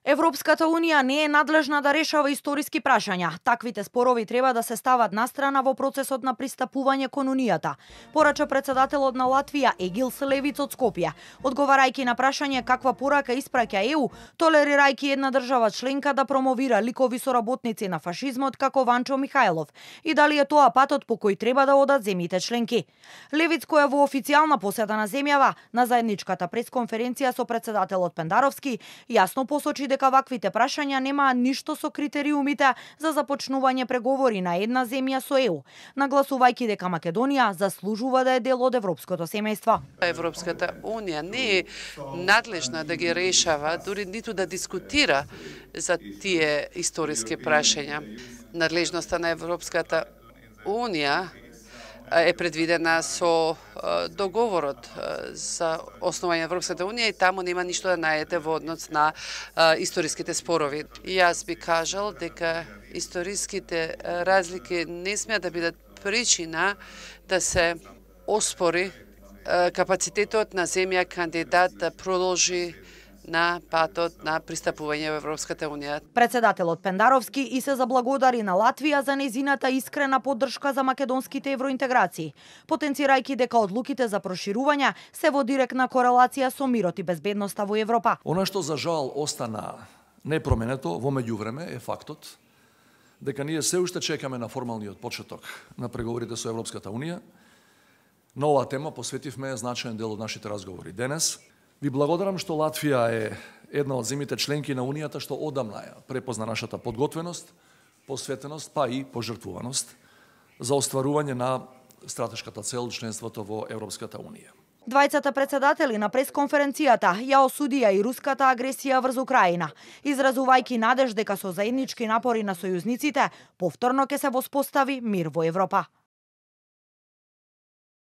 Европската унија не е надлежна да решава историски прашања. Таквите спорови треба да се стават настрана во процесот на пристапување кон унијата, порача председателот на Латвија Егил Селевиц од Скопје, одговарајќи на прашање каква порака испраќа ЕУ, толерирајќи една држава членка да промовира ликови соработници на фашизмот како Ванчо Михајлов и дали е тоа патот по кој треба да одат земјите членки. Левиц, која во официјална посета на земјава на заедничката пресконференција со председателот Пендаровски, јасно посочи дека ваквите прашања немаат ништо со критериумите за започнување преговори на една земја со ЕУ, нагласувајќи дека Македонија заслужува да е дел од европското семејство. Европската унија не е надлежна да ги решава, дури ниту да дискутира за тие историски прашања. Надлежноста на Европската унија е предвидена со договорот за основање на Европската унија и таму нема ништо да најдете во однос на историските спорови. И јас би кажал дека историските разлики не смеат да бидат причина да се оспори капацитетот на земја кандидат да продолжи на патот на пристапување во Европската унија. Председателот Пендаровски и се заблагодари на Латвија за незината искрена поддршка за македонските евроинтеграции, потенцирајќи дека одлуките за проширување се во директна корелација со мирот и безбедноста во Европа. Она што за жал остана непроменето во меѓувреме е фактот дека ние се уште чекаме на формалниот почеток на преговорите со Европската унија. На оваа тема посветивме значаен дел од нашите разговори денес. Ви благодарам што Латвија е една од земјите членки на Унијата што одамна ја препозна нашата подготвеност, посветеност, па и пожртвуваност за остварување на стратешката цел членството во Европската унија. Двајцата председатели на пресконференцијата ја осудија и руската агресија врз Украина, изразувајќи надеж дека со заеднички напори на сојузниците повторно ќе се воспостави мир во Европа.